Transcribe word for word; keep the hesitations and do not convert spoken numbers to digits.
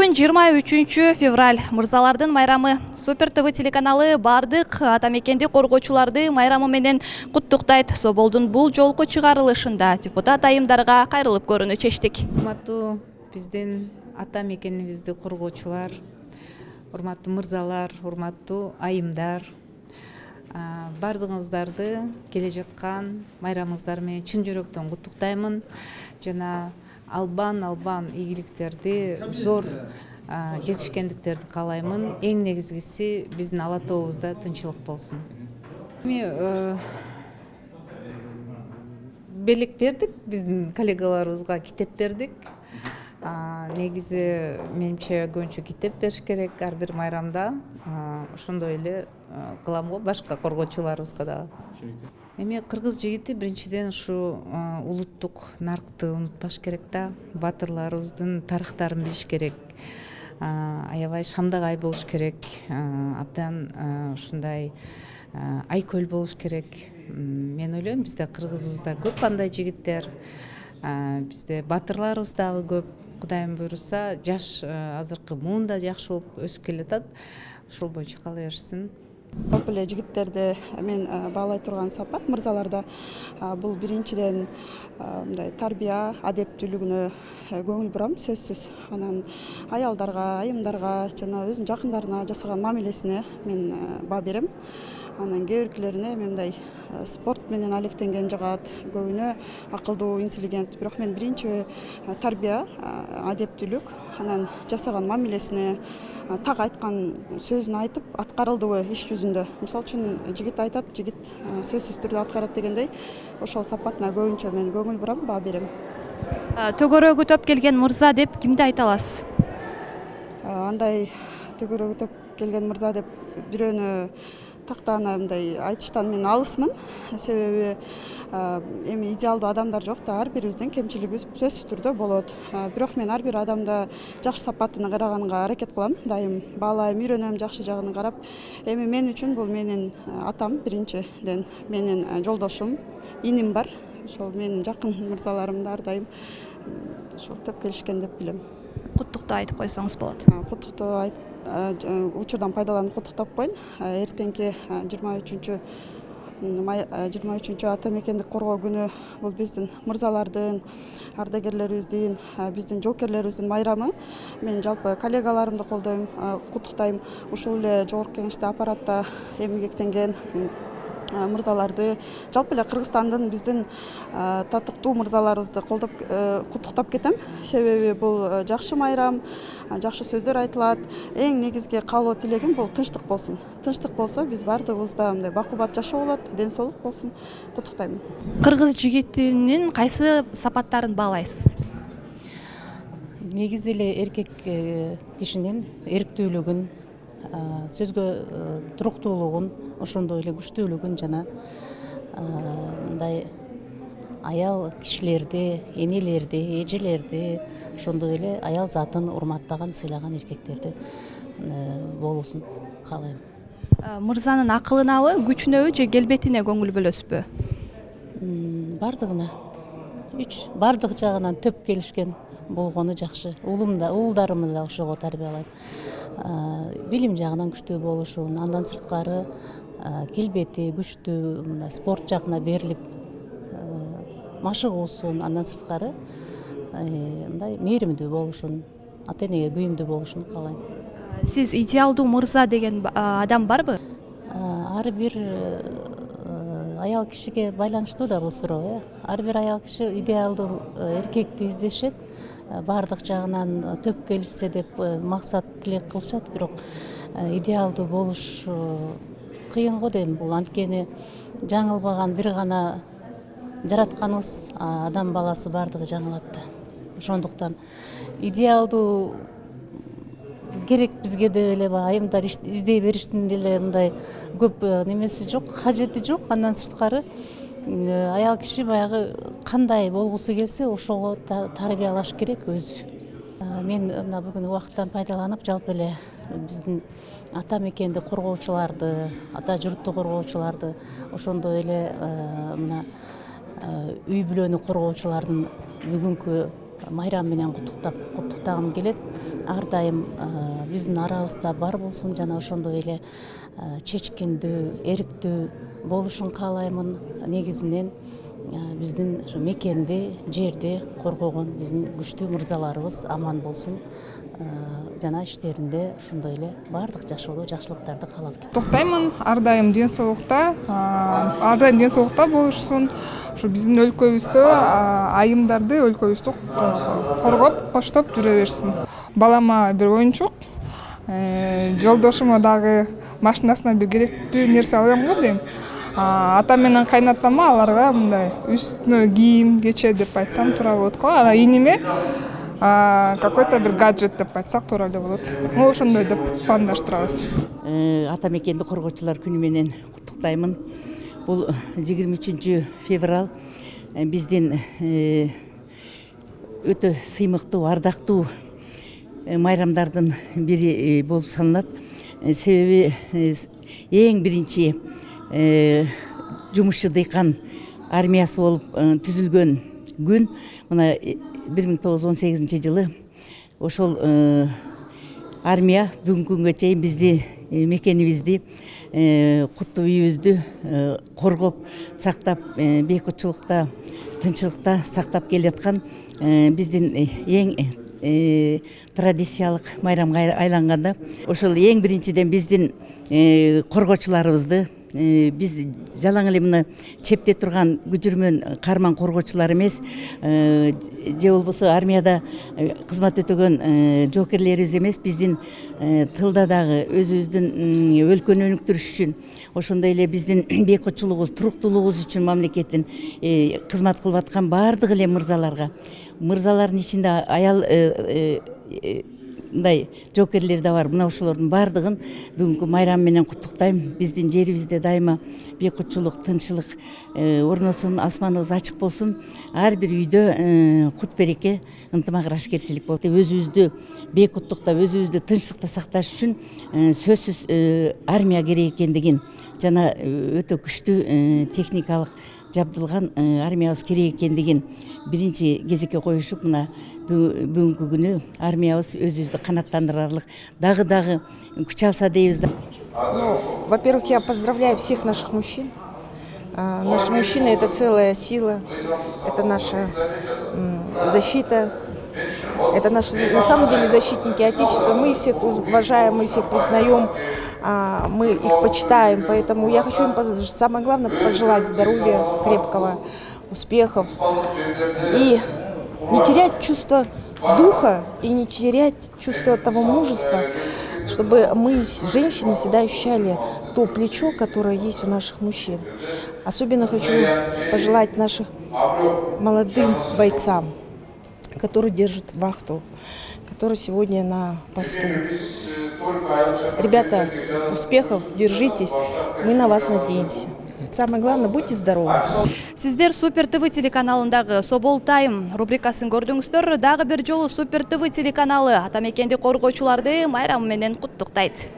Бүгүн жыйырма үчүнчү февраль, мырзалардын майрамы. Супер ТВ телеканалы бардык ата мекенди коргоочуларды майрамы менен куттуктайт. Соболдун бул жолку чыгарылышында депутат айымдарга кайрылып көрүүнү чечтик. Урматтуу биздин ата мекенибизди коргоочулар, урматтуу мырзалар, урматтуу айымдар, бардыгыңыздарды келе жаткан майрамыңыздар менен чын жүрөктөн куттуктаймын. Жана албан албан ийгиликтерди, зор жетишкендиктерди каалаймын. Эң негизгиси биздин ала тообузда тынчылык болсун. Эми белек бердик, биздин коллегаларыбызга китеп бердик. Негизи менимче көбүнчө китеп бериш керек ар бир майрамда. Ошондой эле кылам го башка коргоочуларыбызга дагы. Эми кыргыз жигити биринчиден ушу улуттук наркты унутпаш керек да. Батырларыбыздын тарыхтарын билиш керек. Аябай шамдагай болуш керек. Абдан ушундай айкөл болуш керек. Мен ойлойм, бизде кыргызыбызда көп андай жигиттер. Бизде батырларыбыз дагы көп. Кудайым буйруса, жаш азыркы муун да жакшы болуп өсүп келатат. Ошол боюнча кала берсин. Көп эле жигиттерди мен баалай турган сапат мырзаларда бул биринчиден мындай тарбия, адептүүлүгүнө көңүл бурам, сөзсүз. Анан аялдарга, айымдарга жана өзүнүн жакындарына жасаган мамилесине мен баа берем. Анан кээ биркилерине мындай спорт менен алектенген жагат, көбүнө акылдуу, интеллигент. Бирок мен биринчи тарбия, адептүүлүк, анан жасаган мамилесине, так айткан сөзүн айтып, аткарылдыбы иш жүзүндө. Мисалы үчүн жигит айтат, жигит сөзсүз түрдө аткарат дегендей, ошол сапатына көбүнчө мен көңүл бурам, баа берем. Төгөрөгү топ келген мырза деп кимди айта аласыз? Андай төгөрөгү топ келген мырза деп бирөөнү тактаана мындай айтыштан мен алысмын. Себеби эми идеалдуу адамдар жок да, ар бирибиздин кемчилигибиз сөзсүз түрдө болот. Бирок мен ар бир адамда жакшы сапатына караганга аракет кылам, дайым баалайм, үйрөнөм, жакшы жагын карап. Эми мен үчүн бул менин атам биринчиден, менин жолдошум, иним бар. Ошол менин жакын мырзаларым да ар дайым ошол топ келишкен деп билем. Куттуктоо айтып койсоңуз болот. Куттуктоо айт учурдан пайдаланып куттуктап коеюн. Эртеңки жыйырма үчүнчү жыйырма үчүнчү ата мекендик коргоо күнү бул биздин мырзалардын, ардагерлерибиздин, биздин жоокерлерибиздин майрамы. Мен жалпы коллегаларымды колдойм, куттуктайм. Ушул эле жогорку кеңеште, аппаратта эмгектенген мырзаларды, жалпы эле Кыргызстандын биздин татыктуу мырзаларыбызды колдоп куттуктап кетем. Себеби бул жакшы майрам, жакшы сөздөр айтылат. Эң негизги каалоо тилегим бул тынчтык болсун. Тынчтык болсо биз бардыгыбызда мындай бакубат жашоо болот, ден соолук болсун. Куттуктайм. Кыргыз жигитинин кайсы сапаттарын баалайсыз? Негизи эле эркек кишинин эрктүүлүгүн, сөзгө туруктуулугун, ошондой эле күчтүүлүгүн жана мындай аял кишилерди, энелерди, эжелерди, ошондой эле аял затын урматтаган, сыйлаган эркектерди болуусун каалайм. Мырзанын акылынабы, күчүнөбү же келбетине көңүл бөлөсүзбү? Бардыгына. Үч бардык жагынан төп келишкен болгону жакшы. Уулум да, уулдарымды да ошого тарбиялайм. Билим жагынан күчтүү болушун, андан сырткары келбети күчтүү, спорт жагына берилип машыгуусун, андан сырткары мындай мээримдүү болушун, ата энеге күйүмдүү болушун каалайм. Сиз идеалдуу мырза деген адам барбы? Ар бир аял кишиге байланыштуу да бул суроо, э. Ар бир аял киши идеалдуу эркекти издешет, бардык жагынан төп келишсе деп максат тилек кылышат, бирок идеалдуу болуш кыйын го дейм. Бул анткени жаңылбаган бир гана жаратканыбыз, адам баласы бардыгы жаңылат да. Ошондуктан идеалдуу керек бизге деп эле айымдар издей бериштин деле мындай көп немеси жок, кажети жок. Андан сырткары аял киши баягы кандай болгусу келсе ошого тарбиялаш керек өзү. Мен мына бүгүн убакыттан пайдаланып жалпы эле биздин ата мекенди коргоочуларды, ата журтту коргоочуларды, ошондой эле мына үй бүлөнү коргоочулардын бүгүнкү майрам менен куттуктап куттуктагым келет. Ар дайым биздин арабызда бар болсун жана ошондой эле чечкиндүү, эрктүү болушун каалаймын. Негизинен биздин ушу мекенди, жерди коргогон биздин күчтүү мырзаларыбыз аман болсун. Жана иштеринде ошондой эле баардык жашоодо жакшылыктарды каалап кетем. Токтоймун, ар дайым ден соолукта, ар дайым ден соолукта болушсун. Ушу биздин өлкөбүздө айымдарды өлкөбүздө коргоп, коштоп жүрө берсин. Балама бир оюнчук, жолдошума дагы машинасына бир керектүү нерсе алам го дейм. Ата менен кайнатама аларга мындай үстүнө кийим, кече деп айтсам туура болот го. Ана иниме какой-то бир гаджет деп айтсак туура эле болот. Могу ошондой деп пландаштырабыз. Ата мекенди коргоочулар күнү менен куттуктаймын. Бул жыйырма үчүнчү февраль биздин өтө сыймыктуу, ардактуу майрамдардын бири болуп саналат. Себеби эң биринчи жумушчу дыйкан армиясы болуп түзүлгөн күн мына бир миң тогуз жүз он сегизинчи жылы. Ошол армия бүгүнкү күнгө чейин бизди, мекенибизди, куттуу үйүбүздү коргоп, сактап, бейкутчулукта, тынччылыкта сактап келаткан биздин эң традициялык майрамга айланганда ошол эң биринчиден биздин коргоочуларыбызды биз жалаң эле мына чепте турган күжүрмөн карман коргоочулар эмес, же болбосо армияда кызмат өтөгөн жоокерлерибиз эмес, биздин тылда дагы өзүбүздүн өлкөнү өнүктүрүш үчүн, ошондой эле биздин бейкутчулугубуз, туруктуулугубуз үчүн мамлекеттин кызмат кылып аткан баардык эле мырзаларга, мырзалардын ичинде аял мындай жоокерлер да бар. Мына ошолордун баардыгын бүгүнкү майрам менен куттуктайм. Биздин жерибизде дайыма бейкутчулук, тынччылык орносун, асманыбыз ачык болсун. Ар бир үйдө кут береке, ынтымак, ырашкерчилик болот. Өзүбүздү бейкуттуктап, өзүбүздү тынччылыкта сакташ үчүн сөзсүз армия керек экендигин жана өтө күчтүү техникалык жабдылган армиябыз керек экендигин биринчи кезекке коюшуп, мына бүгүнкү күнү армиябыз өзүбүздү канааттандырарлык дагы дагы күч алса дейбиз. Во-первых, я поздравляю всех наших мужчин. Наши мужчины — это целая сила, это наша защита, это наши, на самом деле, защитники Отечества. Мы их всех уважаем, мы всех признаем, мы их почитаем. Поэтому я хочу им, самое главное, пожелать здоровья крепкого, успехов и не терять чувство духа и не терять чувство того мужества, чтобы мы, женщины, всегда ощущали то плечо, которое есть у наших мужчин. Особенно хочу пожелать нашим молодым бойцам, которые держат вахту, которые сегодня на посту. Ребята, успехов, держитесь, мы на вас надеемся. Самое главное, будьте здоровы. Сиздер Супер ТВ телеканалындагы Собол Тайм рубрикасын көрдүңүздөр. Дагы бир жолу Супер ТВ телеканалы ата мекенди коргоочуларды майрамы менен куттуктайт.